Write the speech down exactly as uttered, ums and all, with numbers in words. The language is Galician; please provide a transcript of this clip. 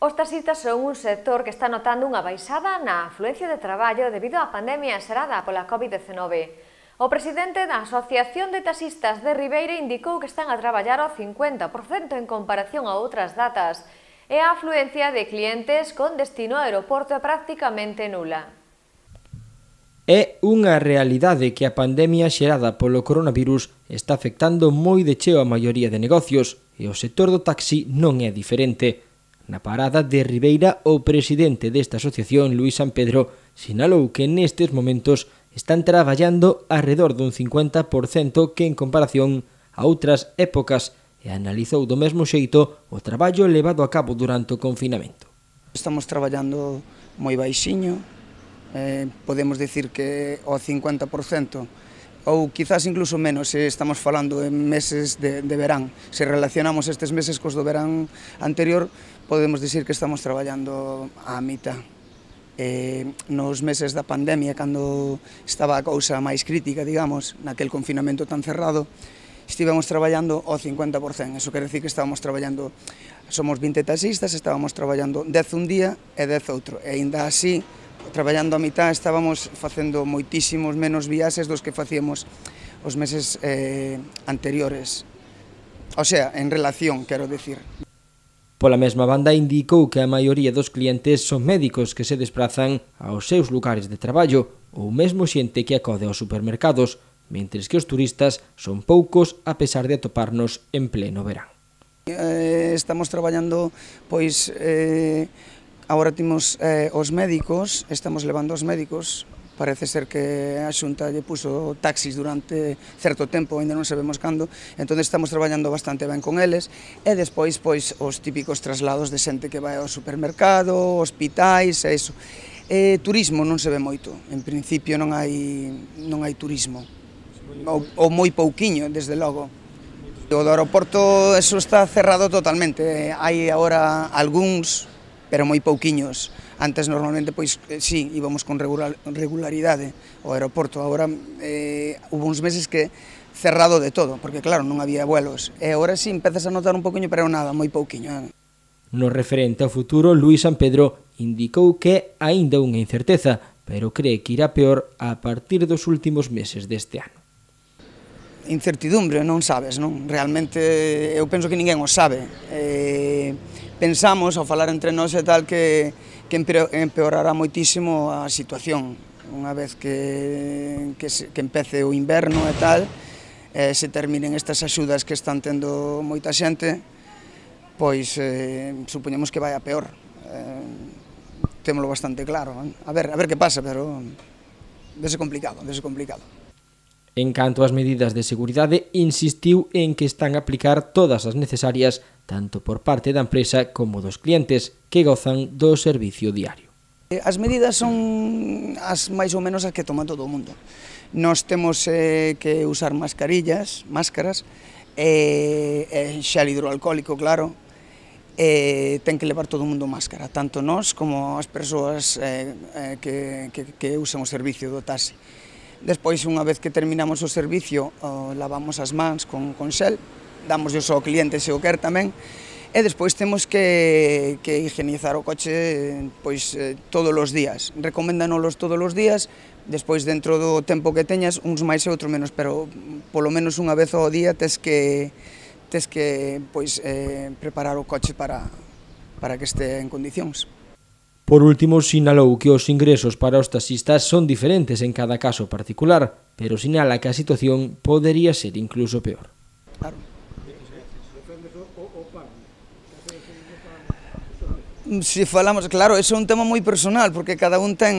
Os taxistas son un sector que está notando unha baixada na afluencia de traballo debido á pandemia xerada pola covid dezenove. O presidente da Asociación de Taxistas de Ribeira indicou que están a traballar ao cincuenta por cento en comparación a outras datas e a afluencia de clientes con destino ao aeroporto é prácticamente nula. É unha realidade que a pandemia xerada polo coronavirus está afectando moi de cheo a maioría de negocios e o sector do taxi non é diferente. Na parada de Ribeira, o presidente desta asociación, Luís San Pedro, sinalou que nestes momentos están traballando arredor dun cincuenta por cento que en comparación a outras épocas e analizou do mesmo xeito o traballo levado a cabo durante o confinamento. Estamos traballando moi baixiño, eh, podemos dicir que o cincuenta por cento ou quizás incluso menos se estamos falando en meses de, de verán. Se relacionamos estes meses cos do verán anterior, podemos dicir que estamos traballando á mitad. Eh, nos meses da pandemia, cando estaba a cousa máis crítica, digamos, naquel confinamento tan cerrado, estivemos traballando ao cincuenta por cento. Eso quere dicir que estábamos traballando, somos vinte taxistas, estábamos traballando dez un día e dez outro. E ainda así, traballando a mitad, estábamos facendo moitísimos menos viaxes dos que facíamos os meses eh, anteriores. O sea, en relación, quero dicir. Pola mesma banda, indicou que a maioría dos clientes son médicos que se desprazan aos seus lugares de traballo ou mesmo xente que acode aos supermercados, mentres que os turistas son poucos a pesar de atoparnos en pleno verán. Eh, estamos traballando, pois, eh, agora temos eh, os médicos, estamos levando os médicos, parece ser que a Xunta lle puso taxis durante certo tempo, ainda non sabemos cando, entón estamos traballando bastante ben con eles, e despois, pois, os típicos traslados de xente que vai ao supermercado, hospitais, e iso. E turismo non se ve moito, en principio non hai, non hai turismo, ou, ou moi pouquiño, desde logo. O do aeroporto, eso está cerrado totalmente, hai agora algúns, pero moi pouquiños. Antes normalmente, pois, sí, íbamos con regularidade ao aeroporto. Agora eh, hubo uns meses que cerrado de todo, porque claro, non había vuelos. E agora sí, empezas a notar un poquinho, pero nada, moi pouquiño. Eh. No referente ao futuro, Luís San Pedro indicou que aínda unha incerteza, pero cree que irá peor a partir dos últimos meses deste ano. Incertidumbre, non sabes, non? Realmente, eu penso que ninguén o sabe. Eh, pensamos, ao falar entre nós e tal, que que empeorará moitísimo a situación unha vez que, que, se, que empece o inverno e tal, e se terminen estas axudas que están tendo moita xente, pois eh, supoñemos que vai a peor. Eh, témolo bastante claro. Eh? A ver, a ver que pasa, pero dese complicado, dese complicado. En canto ás medidas de seguridade, insistiu en que están a aplicar todas as necesarias tanto por parte da empresa como dos clientes que gozan do servicio diario. As medidas son as máis ou menos as que toma todo o mundo. Nós temos eh, que usar mascarillas, máscaras, e, e xel hidroalcohólico, claro, e ten que levar todo o mundo máscara, tanto nós como as persoas eh, eh, que, que, que usan o servicio do taxi. Despois, unha vez que terminamos o servicio, oh, lavamos as mans con, con xel, damos ao cliente se o quer tamén, e despois temos que, que higienizar o coche pois, eh, todos os días. Recoméndanos todos os días, despois dentro do tempo que teñas, uns máis e outros menos, pero polo menos unha vez ao día tes que, tes que pois, eh, preparar o coche para, para que este en condicións. Por último, sinalou que os ingresos para os taxistas son diferentes en cada caso particular, pero sinala que a situación podería ser incluso peor. Claro. Si falamos, claro, eso é un tema moi personal, porque cada un ten